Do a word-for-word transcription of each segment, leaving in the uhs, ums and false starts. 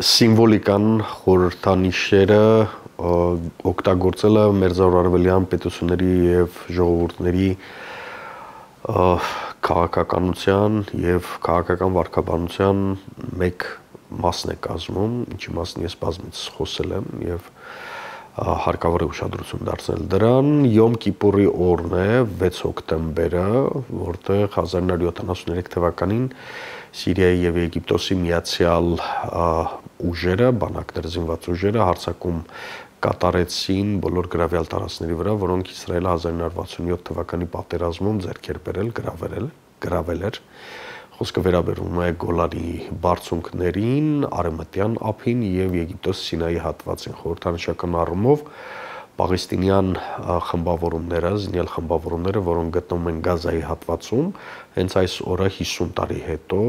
սիմվոլիկան խորհրդանիշերը օգտագործելը մերձարևելյան պետությունների եւ ժողովուրդների քաղաքականության եւ քաղաքական վարքաբանության մեկ մասն է կազմում, ինչի մասին ես բազմից խոսել եմ եւ հարկավոր է ուշադրություն դարձնել դրան։ Յոմ Կիպուրի օրն է վեց հոկտեմբերը, որտեղ հազար նոր յոթանասուններեք թվականին Սիրիայի եւ Եգիպտոսի միացյալ ուժերը, բանակներ զինված ուժերը հարձակում կատարեցին բոլոր գրավյալ տարածքների վրա, որոնք Իսրայելը հազար նոր վաթսունյոթ թվականի պատերազմում ձեռք էր բերել, գրավել, գրավել էր։ Խոսքը վերաբերում է Գոլանի բարձունքներին, Արևմտյան ափին եւ Եգիպտոս Սինայի հատվածին։ Խորհրդանշական առումով պաղեստինյան խմբավորումները, զինյալ խմբավորումները, որոնք գտնվում են Գազայի հատվածում, հենց այս օրը հիսուն տարի հետո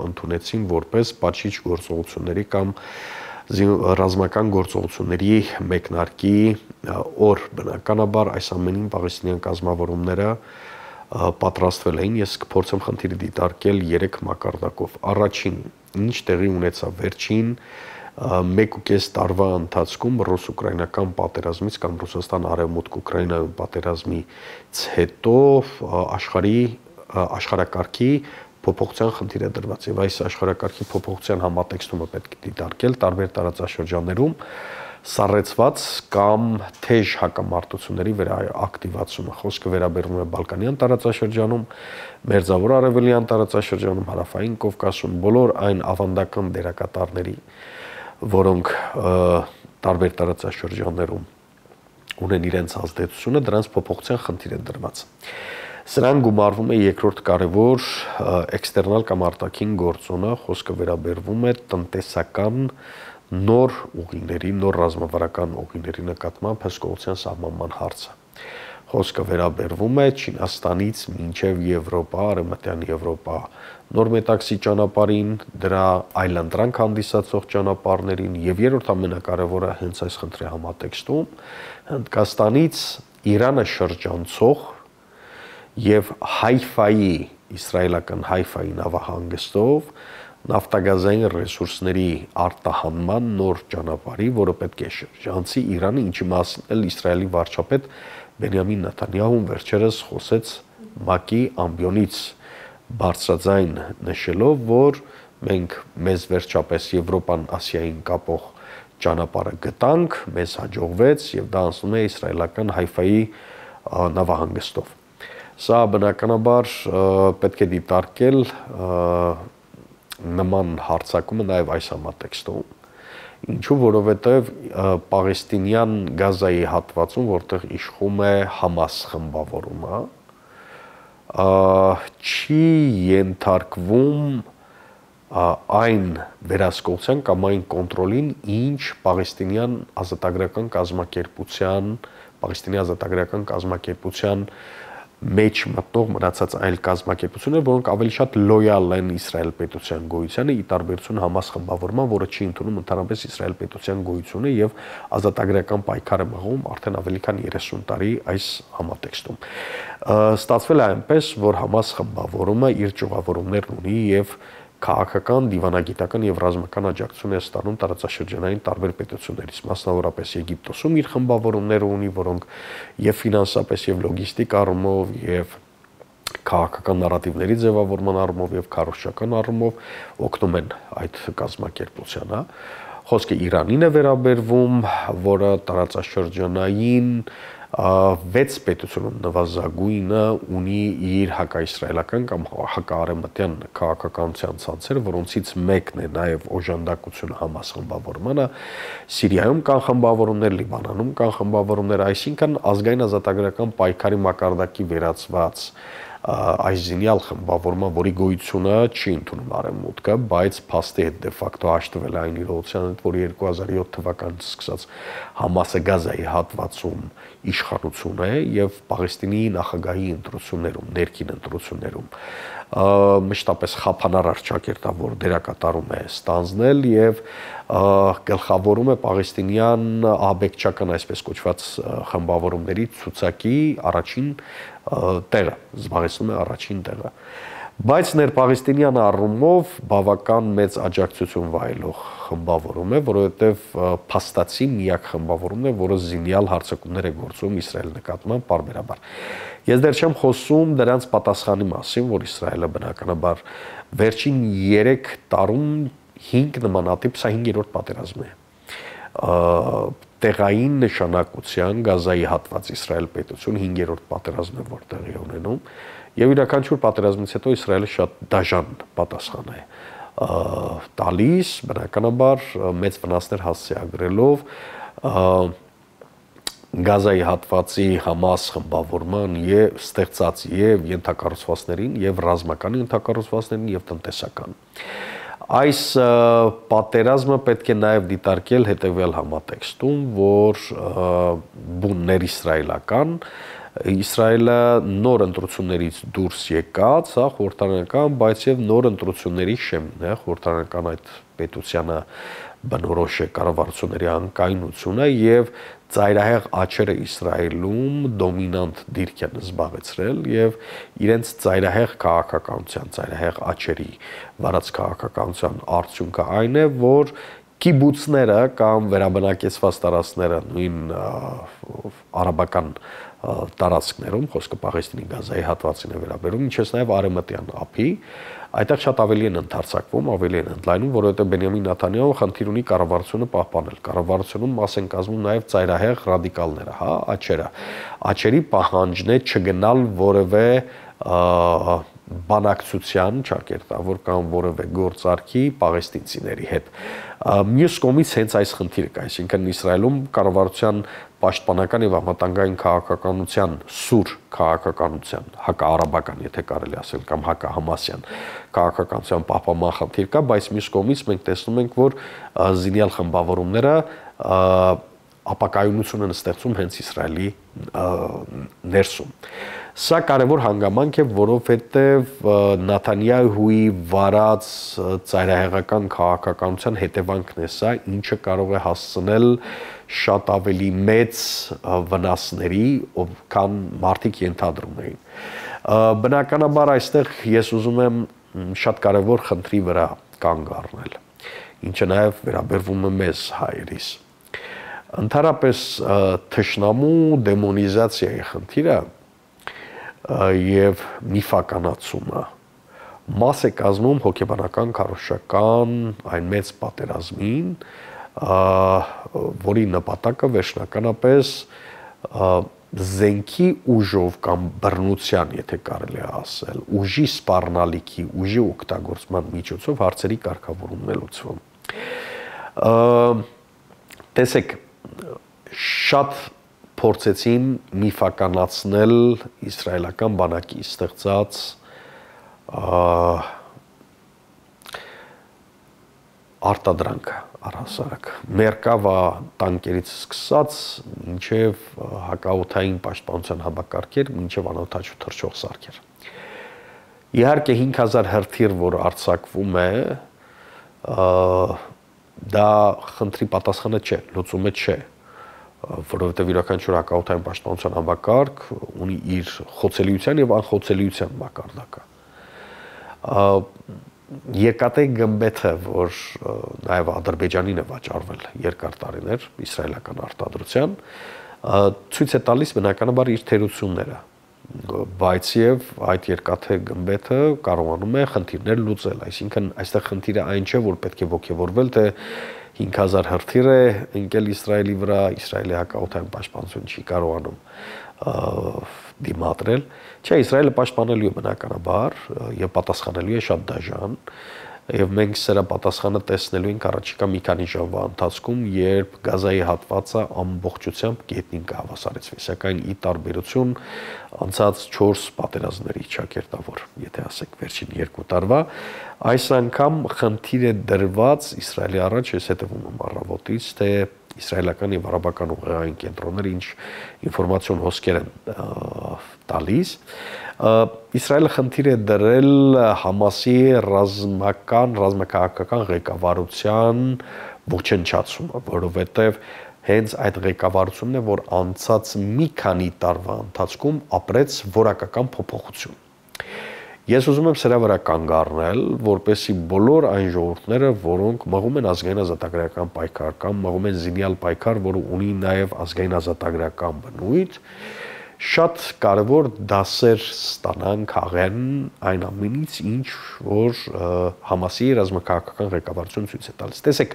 ընդունեցին որպես պատժիչ գործողությունների կամ ռազմական գործողությունների մեկնարկի օր։ Բնականաբար այս ամենին պաղեստինյան կազմավորումները պատրաստվել էին։ Ես կփորձեմ խնդիրը դիտարկել երեք մակարդակով։ Առաջին, ինչ տեղի ունեցավ վերջին մեկ ու կես տարվա ընթացքում ռուս-ուկրաինական պատերազմից կամ Ռուսաստան արևմուտք Ուկրաինայում պատերազմից հետո աշխարհի աշխարհակարգի փոփոխության խնդիր է դրված եւ այս աշխարհակարգի փոփոխության համատեքստումը պետք է դիտարկել տարբեր տարածաշրջաններում սառեցված կամ թեժ հակամարտությունների վերաակտիվացումը։ Խոսքը վերաբերում է Բալկանյան տարածաշրջանում, Մերձավոր Արևելյան տարածաշրջանում, Հարավային Կովկասում, բոլոր այն ավանդական դերակատարների, որոնք տարբեր տարածաշրջաններում ունեն իրենց ազդեցությունը, դրանց փոփոխության խնդիր է դրված։ Սրան գումարվում է երկրորդ կարևոր էքստերնալ կամ արտաքին գործոնը, խոսքը վերաբերվում է տնտեսական նոր ուղիների, նոր ռազմավարական ուղիների նկատմամբ հսկողության սահմանման հարցը։ Խոսքը վերաբերվում է Չինաստանից մինչև Եվրոպա, Արևմտյան Եվրոպա նոր մետաքսի ճանապարհին, դրա այլընտրանք հանդիսացող ճանապարհներին եւ երրորդ ամենակարևորը հենց այս խնդրի համատեքստում Հնդկաստանից Իրանը շրջանցող եւ Հայֆայի, իսրայելական Հայֆայի նավահանգստով նավթագազային ռեսուրսների արտահանման նոր ճանապարհի, որը պետք է շրջանցի Իրանը, ինչի մասին էլ Իսրայելի վարչապետ Բենյամին Նեթանյահուն վերջերս խոսեց ՄԱԿ-ի ամբիոնից բարձրաձայն նշելով, որ մենք մեզ վերջապես Եվրոպան Ասիային կապող ճանապարհը գտանք, մեզ հաջողվեց եւ դա անցնում է իսրայելական Հայֆայի նավահանգստով։ Սա բնականաբար պետք է դիտարկել նման հարձակումը նաև այս համատեքստում, ինչու որովհետև պաղեստինյան Գազայի հատվածում, որտեղ իշխում է Համաս խմբավորումը, չի ենթարկվում այն վերահսկողության կամ այն կոնտրոլին, ինչ պաղեստինյան ազատագրական կազմակերպության, պաղեստինի ազատագրական կազմակերպության մեջ մտնող մնացած այլ կազմակերպություններ, որոնք ավելի շատ լոյալ են Իսրայել պետության գոյությանը, ի տարբերություն Համաս խմբավորման, որը չի ընդունում ընդհանրապես Իսրայել պետության գոյությունը եւ ազատագրական պայքար է մղում արդեն ավելի քան երեսուն տարի այս համատեքստում։ Ստացվել է այնպես, որ Համաս խմբավորումը իր ճյուղավորումներն ունի եւ քաղաքական, դիվանագիտական եւ ռազմական աջակցություն է ստանում տարածաշրջանային տարբեր պետություններից, մասնավորապես Եգիպտոսում իր խմբավորումները ունի, որոնք եւ ֆինանսապես եւ լոգիստիկ առումով եւ քաղաքական նարատիվների ձևավորման առումով եւ քարոզչական առումով օգնում են այդ կազմակերպությանը։ Խոսքը Իրանին է վերաբերվում, որը տարածաշրջանային վեց պետությունում նվազագույնը ունի իր հակաիսրայելական կամ հակաարևմտյան քաղաքականության ցանցերը, որոնցից մեկն է նաև օժանդակությունը Համաս խմբավորմանը, Սիրիայում կան խմբավորումներ, Լիբանանում կան խմբավորումներ, այսինքն ազգային ազատագրական պայքարի մակարդակի վերածված այս զինյալ խմբավորման, որի գոյությունը չի ընդունում արևմուտքը, բայց փաստի հետ դե ֆակտո հաշտվել այն իրողության հետ, որ երկու հազար յոթ թվականից սկսած Համասը Գազայի հատվածում իշխանություն է եւ Պաղեստինի նախագահի ընտրություններում, ներքին ընտրություններում մշտապես խափանարար ճակերտավոր դերակատարում է ստանձնել եւ գլխավորում է պաղեստինյան ահաբեկչական այսպես կոչված խմբավորումների ցուցակի առաջին տեղը, զբաղեցնում է առաջին տեղը։ Բայց ներպաղեստինյան առումով բավական մեծ աջակցություն վայելող խմբավորում է, որովհետև փաստացի միակ խմբավորումն է, որը զինյալ հարձակումներ է գործում Իսրայելի նկատմամբ պարբերաբար։ Ես դեռ չեմ խոսում դրանց պատասխանի մասին, որ Իսրայելը բնականաբար վերջին երեք տարում հինգ նմանատիպ, սա հինգերորդ պատերազմն է, տեղային նշանակության Գազայի հատված Իսրայել պետություն հինգերորդ պատերազմն է, որ տեղի ունենում, եւ յուրաքանչյուր պատերազմից հետո Իսրայելը շատ դաժան պատասխան է տալիս, բնականաբար մեծ վնասներ հասցեագրելով Գազայի հատվածի Համաս խմբավորման եւ ստեղծած եւ ենթակառուցվածքներին եւ ռազմական ենթակառուցվածքներին եւ տնտեսական։ Այս պատերազմը պետք է նաեւ դիտարկել հետեւյալ համատեքստում, որ բուններ իսրայելական Իսրայելը նոր ընտրություններից դուրս եկած, հա, խորհրդարանական, բայց եւ նոր ընտրությունների շեմն է, խորհրդարանական այդ պետությանը բնորոշ է կառավարությունների անկայունությունը եւ ծայրահեղ աչերը Իսրայելում դոմինանտ դիրք են զբաղեցրել եւ իրենց ծայրահեղ քաղաքականության, ծայրահեղ աչերի վարած քաղաքականության արդյունքը այն է, որ կիբուցները կամ վերաբնակեցված տարածքները նույն արաբական տարածքներում, խոսքը Պաղեստինի Գազայի հատվածին է վերաբերում, ինչպես նաև Արևմտյան ափի, այդտեղ շատ ավելի են ընդարձակվում, ավելի են ընդլայնում, որովհետև Բենյամին Նեթանյահու խնդիր ունի կառավարությունը պահպանել։ Կառավարությունում մաս են կազմում նաև ծայրահեղ ռադիկալները, հա, աչերը։ Աչերի պահանջն է չգնալ որևէ բանակցության ճակերտավոր կամ որևէ գործարքի պաղեստինցիների հետ։ Մյուս կողմից հենց այս խնդիրը կա, այսինքն Իսրայելում կառավարության պաշտպանական եւ անվտանգային քաղաքականության սուր քաղաքականության հակաարաբական, եթե կարելի ասել, կամ հակահամասյան քաղաքականության պահպանման խնդիր կա, բայց մյուս կողմից մենք տեսնում ենք, որ զինյալ խմբավորումները ապակայունություն են ստեղծում հենց Իսրայելի ներսում։ Սա կարևոր հանգամանք է, որովհետև Նեթանյահուի վարած ծայրահեղական քաղաքականության հետևանքն է սա, ինչը կարող է հասցնել շատ ավելի մեծ վնասների, քան մարդիկ ենթադրում էին։ Բնականաբար այստեղ ես ուզում եմ շատ կարևոր խնդրի վրա կանգ առնել, ինչը նաև վերաբերվում է մեզ հայերիս։ Ընդհանրապես թշնամու դեմոնիզացիայի խնդիրը եւ միֆականացումը մաս է կազմում հոգեբանական քարոզչական այն մեծ պատերազմին, որի նպատակը վերջնականապես զենքի ուժով կամ բռնության, եթե կարելի է ասել, ուժի սպառնալիքի, ուժի օգտագործման միջոցով հարցերի կարգավորումն է լուծվում։ Տեսեք, շատ փորձեցին միֆականացնել իսրայելական բանակի ստեղծած արտադրանքը առհասարակ Մերկավա տանկերից սկսած մինչև հակաօդային պաշտպանության համակարգեր, մինչև անօդաչու թռչող սարքեր։ Իհարկե հինգ հազար հրթիռ, որ արձակվում է, դա խնդրի պատասխանը չէ, լուծումը չէ, որովհետև յուրաքանչյուր հակաօդային պաշտպանության համակարգ ունի իր խոցելիության եւ անխոցելիության մակարդակը։ Երկաթե գմբեթը, որ նաև Ադրբեջանին է վաճառվել երկար տարիներ իսրայելական արտադրության, ցույց է տալիս բնականաբար իր թերությունները, բայց եւ այդ երկաթե գմբեթը կարողանում է խնդիրներ լուծել, այսինքն այստեղ խնդիրը այն չէ, որ պետք է ողջևորվել, թե հինգ հազար հրթիռ է ընկել Իսրայելի վրա, Իսրայելի հակաօդային պաշտպանություն չի կարողանում դիմադրել։ Չէ, Իսրայելը պաշտպանելու է բնականաբար եւ պատասխանելու է շատ դաժան, եւ մենք սրա պատասխանը տեսնելու ենք առաջիկա մի քանի ժամվա ընթացքում, երբ Գազայի հատվածը ամբողջությամբ գետնին կհավասարեցվի, սակայն ի տարբերություն անցած չորս պատերազմների ճակերտավոր, եթե ասենք վերջին երկու տարվա, այս անգամ խնդիր է դրված Իսրայելի առաջ, ես հետևում եմ առավոտից, թե իսրայելական եւ արաբական ուղեղային կենտրոնները ինչ ինֆորմացիոն հոսքեր են տալիս։ Իսրայելը խնդիր է դրել Համասի ռազմական, ռազմաքաղաքական ղեկավարության ոչնչացումը, որովհետեւ հենց այդ ղեկավարությունն է, որ անցած մի քանի տարվա ընթացքում ապրեց որակական փոփոխություն։ Ես ուզում եմ սրա վրա կանգ առնել, որպեսզի բոլոր այն ժողովուրդները, որոնք մղում են ազգային ազատագրական պայքար կամ մղում են զինյալ պայքար, որը ունի նաև ազգային ազատագրական բնույթ, շատ կարևոր դասեր ստանան, քաղեն այն ամենից, ինչ որ Համասի ռազմաքաղաքական ղեկավարությունը ցույց է տալիս։ Տեսեք,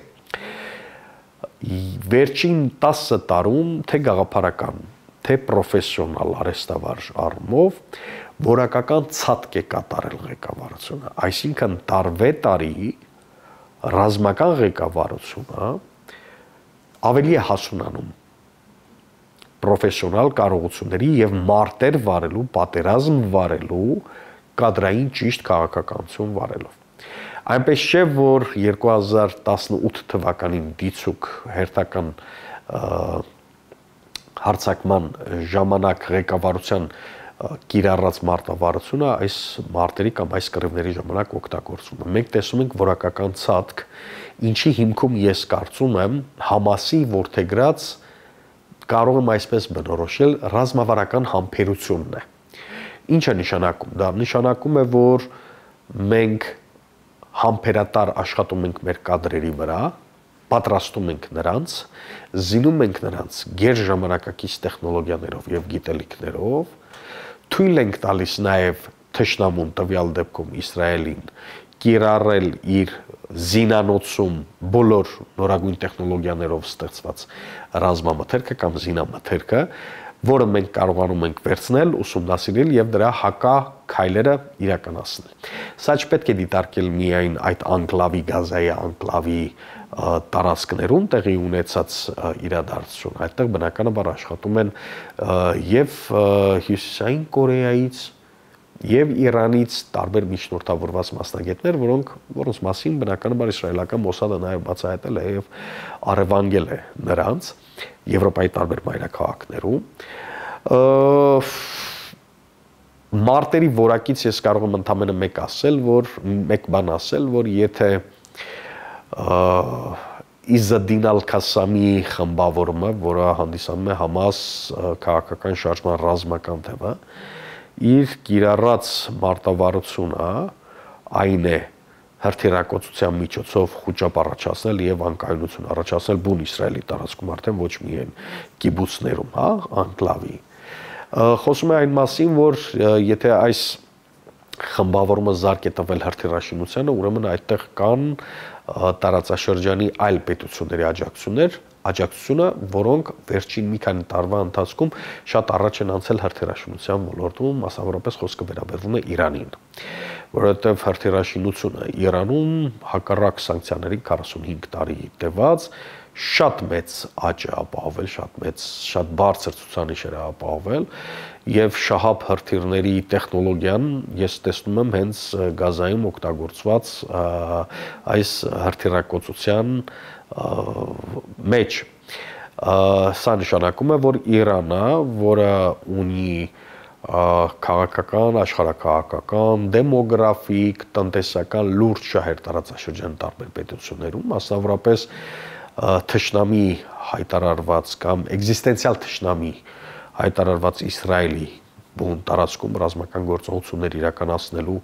վերջին տասը տարում թե գաղափարական, թե պրոֆեսիոնալ արհեստավարժ առումով որակական ցածկ է կատարել ղեկավարությունը, այսինքն տարվե տարի ռազմական ղեկավարությունը ավելի է հասունանում պրոֆեսիոնալ կարողությունների եւ մարտեր վարելու, պատերազմ վարելու, կադրային ճիշտ քաղաքականություն վարելով։ Այնպես չէ, որ երկու հազար տասնութ թվականին դիցուկ հերթական հարձակման ժամանակ ղեկավարության կիրառած մարտավարությունը այս մարտերի կամ այս կռիվների ժամանակ օգտագործվում է։ Մենք տեսնում ենք որակական ցածկ, ինչի հիմքում ես կարծում եմ Համասի որդեգրած կարող եմ այսպես բնորոշել ռազմավարական համբերությունն է։ Ինչ է նշանակում։ Դա նշանակում է, որ մենք համբերատար աշխատում ենք մեր կադրերի վրա, պատրաստում ենք նրանց, զինում ենք նրանց գերժամանակակից տեխնոլոգիաներով եւ գիտելիքներով, թույլ ենք տալիս նաեւ թշնամուն տվյալ դեպքում Իսրայելին կիրառել իր զինանոցում բոլոր նորագույն տեխնոլոգիաներով ստեղծված ռազմամթերքը կամ զինամթերքը, որը մենք կարողանում ենք վերցնել, ուսումնասիրել եւ դրա հակաքայլերը իրականացնել։ Սա չպետք է դիտարկել միայն այդ անկլավի, գազայի անկլավի տարածքներում տեղի ունեցած իրադարձություն, այդտեղ բնականաբար աշխատում են եւ Հյուսիսային Կորեայից եւ Իրանից տարբեր միջնորդավորված մասնագետներ, որոնք որոնց մասին բնականաբար իսրայելական Մոսադը նաեւ բացահայտել է եւ առևանգել է նրանց Եվրոպայի տարբեր մայրաքաղաքներում։ Մարտերի որակից ես կարող եմ ընդամենը մեկ ասել, որ մեկ բան ասել, որ եթե Իզադին Ալ-Քասամի խմբավորումը, որը հանդիսանում է Համաս քաղաքական շարժման ռազմական թևը, իր կիրառած մարտավարությունը այն է հրթիռակոծության միջոցով խոճապ առաջացնել եւ անկայունություն առաջացնել բուն Իսրայելի տարածքում, արդեն ոչ միայն կիբուցներում, հա, անկլավի։ Խոսում է այն մասին, որ եթե այս խմբավորումը զարկ է տվել հրթիռաշինությանը, ուրեմն այդտեղ կան տարածաշրջանի այլ պետությունների աջակցություններ, աջակցությունը, որոնք վերջին մի քանի տարվա ընթացքում շատ առաջ են անցել հրթիռաշինության ոլորտում, մասնավորապես խոսքը վերաբերվում է Իրանին, որովհետև հրթիռաշինությունը Իրանում հակառակ սանկցիաների քառասունհինգ տարի տևած շատ մեծ աճ է ապահովել, շատ մեծ, շատ բարձր ցուցանիշ է ապահովել եւ շահապ հրթիռների տեխնոլոգիան ես տեսնում եմ հենց գազայում օգտագործված այս հրթիռակոծության մեջ սա նշանակում է, որ Իրանը, որը ունի քաղաքական, աշխարհաքաղաքական, դեմոգրաֆիկ, տնտեսական լուրջ շահեր տարածաշրջան տարբեր պետություններում, մասնավորապես թշնամի հայտարարված կամ էգզիստենցիալ թշնամի հայտարարված Իսրայելի բուն տարածքում ռազմական գործողություններ իրականացնելու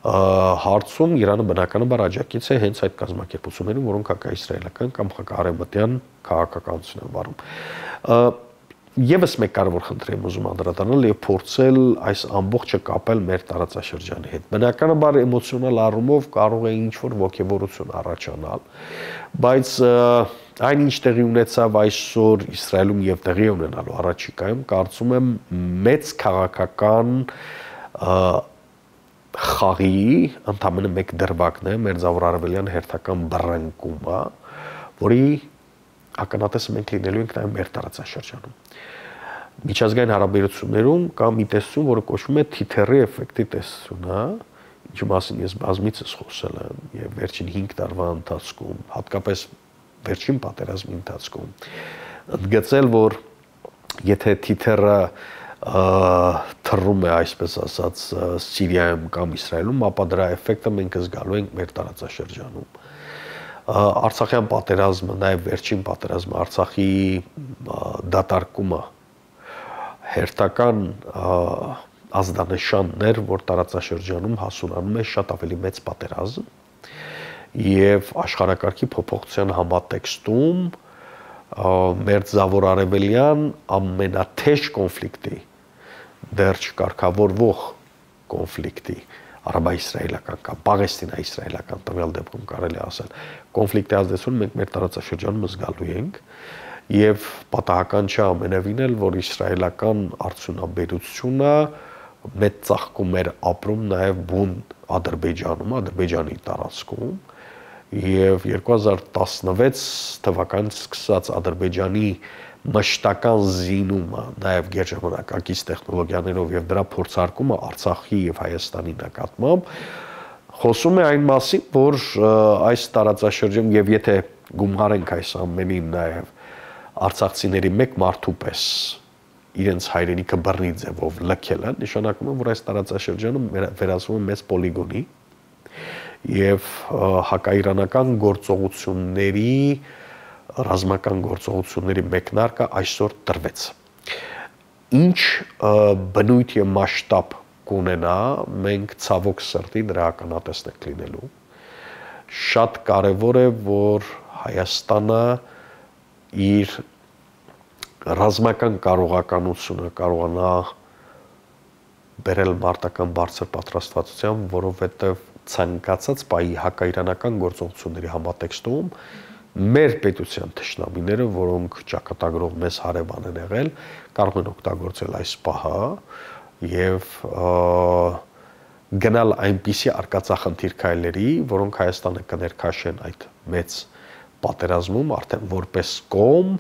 հարցում Իրանը բնականաբար աջակից է հենց այդ կազմակերպություններին, որոնք հակաիսրայելական կամ հակաարևմտյան քաղաքականություն են վարում։ Եվս մեկ կարևոր խնդիր եմ ուզում անդրադառնալ եւ փորձել այս ամբողջը կապել մեր տարածաշրջանի հետ։ Բնականաբար էմոցիոնալ առումով կարող է ինչ-որ ոգևորություն առաջանալ, բայց այն ինչ տեղի ունեցավ այսօր Իսրայելում եւ տեղի ունենալու առաջիկայում, կարծում եմ մեծ քաղաքական խաղի ընդամենը մեկ դրվագն է մերձավոր արևելյան հերթական բռնկումը, որի ականատեսը մենք լինելու ենք նաև մեր տարածաշրջանում։ Միջազգային հարաբերություններում կա մի տեսություն, որը կոչվում է թիթեռի էֆեկտի տեսությունը, ինչի մասին ես բազմիցս խոսել եմ եւ վերջին հինգ տարվա ընթացքում, հատկապես վերջին պատերազմի ընթացքում, ընդգծել, որ եթե թիթեռը թռում է, այսպես ասած, Սիրիայում կամ Իսրայելում, ապա դրա էֆեկտը մենք զգալու ենք մեր տարածաշրջանում։ Արցախյան պատերազմը, նաև վերջին պատերազմը, Արցախի դատարկումը հերթական ազդանշաններ, որ տարածաշրջանում հասունանում է շատ ավելի մեծ պատերազմ եւ աշխարհակարգի փոփոխության համատեքստում մեր զավոր արևելյան ամենաթեժ կոնֆլիկտի դեռ չկարգավորվող կոնֆլիկտի արաբա-իսրայելական կամ պաղեստինա-իսրայելական տվյալ դեպքում կարելի ասել կոնֆլիկտի ազդեցություն մենք մեր տարածաշրջանում զգալու ենք եւ պատահական չէ ամենևին էլ որ իսրայելական արդյունաբերությունը մեծ ծաղկում էր ապրում նաեւ բուն Ադրբեջանում, Ադրբեջանի տարածքում եւ երկու հազար տասնվեց թվականից սկսած Ադրբեջանի մշտական զինումը, նաև գերժամանակակից տեխնոլոգիաներով եւ դրա փորձարկումը Արցախի եւ Հայաստանի նկատմամբ խոսում է այն մասին, որ այս տարածաշրջանում եւ եթե գումարենք այս ամենին նաև արցախցիների մեկ մարդու պես իրենց հայրենիքը բռնի ձևով լքելը, նշանակում է, որ այս տարածաշրջանը վերածվում է մեծ պոլիգոնի եւ հակաիրանական գործողությունների ռազմական գործողությունների մեկնարկը այսօր տրվեց։ Ինչ բնույթ եւ մասշտաբ կունենա, մենք ցավոք սրտի դրա ականատեսնենք լինելու։ Շատ կարեւոր է, որ Հայաստանը իր ռազմական կարողականությունը կարողանա բերել մարտական բարձր պատրաստվածության, որովհետեւ ցանկացած պայի հակաիրանական գործողությունների համատեքստում մեր պետության թշնամիները, որոնք ճակատագրով մեզ հարևան են եղել, կարող են օգտագործել այս պահը եւ գնալ այնպիսի արկածախնդիր քայլերի, որոնք Հայաստանը կներքաշեն այդ մեծ պատերազմում արդեն որպես կողմ,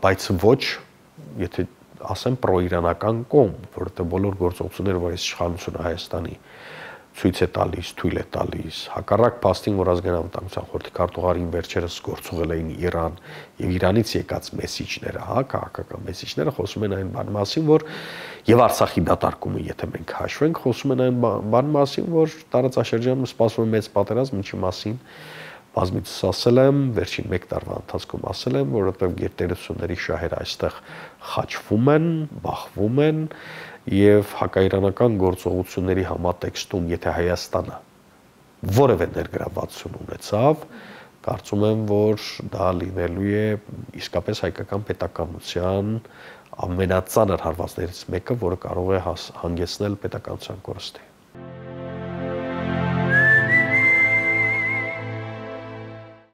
բայց ոչ, եթե ասեմ պրոիրանական կողմ, որովհետեւ բոլոր գործողությունները, որ այս իշխանությունը Հայաստանի ցույց է տալիս, թույլ է տալիս, հակառակ փաստին, որ ազգային անվտանգության խորհրդի քարտուղարին վերջերս գործողել էին Իրան եւ Իրանից եկած մեսիջները, հա, քաղաքական մեսիջները խոսում են այն բան մասին, որ եւ Արցախի դատարկումը, եթե մենք հաշվենք, խոսում են այն բան մասին, որ տարածաշրջանում սպասվում է մեծ պատերազմ, ինչի մասին բազմիցս ասել եմ, վերջին մեկ տարվա ընթացքում ասել եմ, որովհետեւ գերտերությունների շահերը այստեղ խաչվում են, բախվում են եւ հակաիրանական գործողությունների համատեքստում, եթե Հայաստանը որևէ ներգրավվածություն ունեցավ, կարծում եմ, որ դա լինելու է իսկապես հայկական պետականության ամենածանր հարվածներից մեկը, որը կարող է հանգեցնել պետականության կորստի։